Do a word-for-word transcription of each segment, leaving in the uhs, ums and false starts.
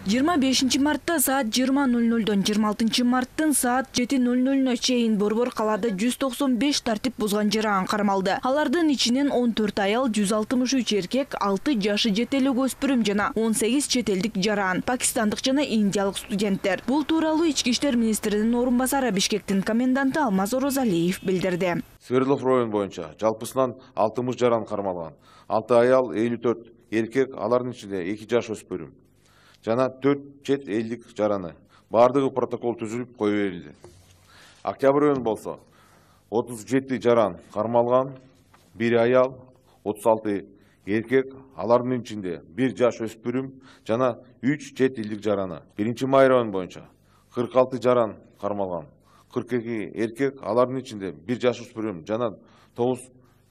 жыйырма бешинчи мартта саат жыйырма ноль нольдон жыйырма алтынчы марттын саат жети ноль нольуна чейин Борбор калаада жүз токсон беш тартип бузган жаран кармалды. Алардын ичинен он төрт аял, жүз алтымыш үч эркек, алты жашы жете элек өспүрүм жана он сегиз чет элдик жаран, пакистандык жана индиялык студенттер. Бул тууралуу Ички иштер министринин орун басары Бишкектин коменданты Алмаз Орозалиев билдирди. Свердлов району боюнча жалпысынан алтымыш жаран кармалган. алты аял, элүү төрт эркек, алардын ичинде эки жаш өспүрүм жана төрт чет элдик жараны. Бардыгы протокол түзүлүп кое берилди. Октябрь району болсо отуз жети жаран кармалган, бир аял, отуз алты эркек, алардын ичинде бир жаш өспүрүм жана үч чет элдик жараны. биринчи май району боюнча кырк алты жаран кармалган, кырк эки эркек, алардын ичинде бир жаш өспүрүм жана тогуз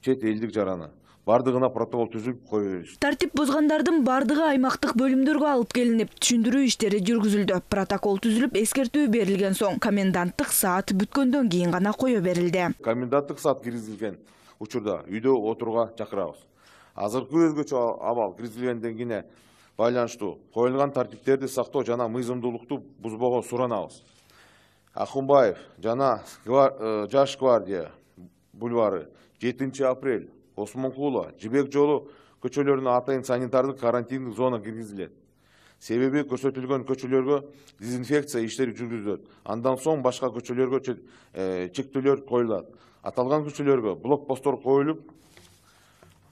чет элдик жараны. Бардыгына протокол түзүлүп кое берилди. Тартип бузгандардын бардыгы аймактык бөлүмдөргө алып келинип, түшүндүрүү иштери жүргүзүлдү. Протокол түзүлүп, эскертүү берилген соң коменданттык саат бүткөндөн кийин гана кое берилди. Коменданттык саат киргизилген учурда үйдө отурууга чакырабыз. Азыркы өзгөчө абал киргизилгенден кийин байланыштуу коюлган тартиптерди сактоо жана мыйзамдуулукту бузбоого суранабыз. Ахунбаев жана Жаш гвардия бульвары, жетинчи апрель, Осмонкула, Жибек жолу көчөлөрүнө атайын санитардык карантиндик зона киргизилет. Себеби көрсөтүлгөн көчөлөргө дезинфекция иштери жүргүзүлөт. Андан соң башка көчөлөргө чектөөлөр коюлат. Аталган көчөлөргө блокпосттор коюлуп,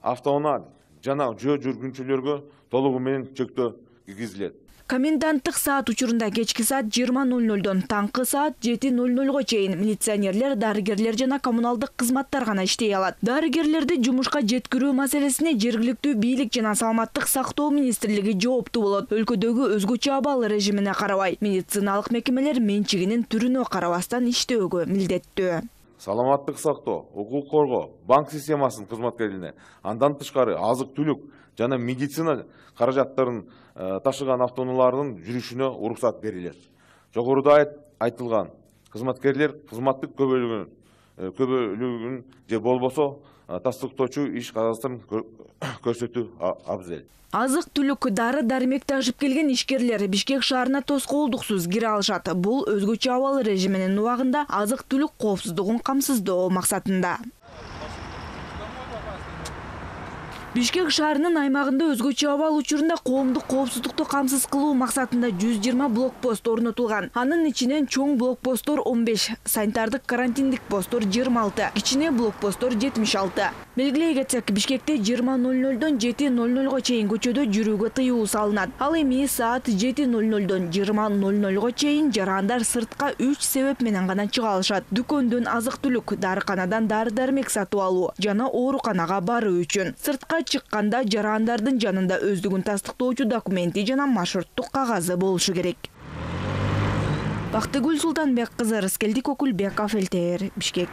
автоунаа жана жөө жүргүнчүлөргө толугу менен чектөө киргизилет. Коменданттык саат учурунда кечки саат жыйырма ноль нольдон таңкы саат жети ноль нольго чейин милиционерлер, дарыгерлер жана коммуналдык кызматтар гана иштей алат. Дарыгерлерди жумушка жеткирүү маселесине жергиликтүү бийлик жана саламаттык сактоо министрлиги жооптуу болот. Өлкөдөгү өзгөчө абал режимине карабай, медициналык мекемелер менчигинин түрүнө карабастан иштөөгө милдеттүү. Саламаттык сактоо, укук коргоо, банк системасынын кызматкерлерине, андан тышкары азык-түлүк жана медицина каражаттарын ташыган автоунаалардын жүрүшүнө уруксат берилет. Жогоруда айтылган кызматкерлер кызматтык көбөлүгүн көбөлүгүн же болбосо тастыктоочу иш кагазын көрсөтүү абзел. Азык-түлүк, дары-дармек ташып келген ишкерлер Бишкек шаарына тоскоолдуксуз кире алышат. Бул өзгөчө абал режиминин убагында азык-түлүк коопсуздугун камсыздоо максатында. Бишкек шаарынын аймагында өзгөчө абал учурунда коомдук коопсуздукту камсыз кылуу максатында жүз жыйырма блокпост орнотулган. Анын ичинен чоң блокпосттор он беш, санитардык карантиндик посттор жыйырма алты, кичине блокпосттор жетимиш алты. Белгилей кетсек, Бишкекте жыйырма ноль нольдон жети ноль нольго чейин көчөдө жүрүүгө тыюу салынат. Ал эми саат жети ноль нольдон жыйырма ноль нольго чейин жарандар сыртка үч себеп менен гана чыга алышат. Дүкөндөн азык-түлүк, дарыканадан дары-дармек сатып алуу жана ооруканага баруу үчүн. Сыртка чыкканда жарандардын жанында өздүгүн тастыктоочу документи жана маршруттук кагазы болушу керек. Бактыгүл Султанбек кызы, Рыскелдик Окулбеков, эл тэ эр, Бишкек.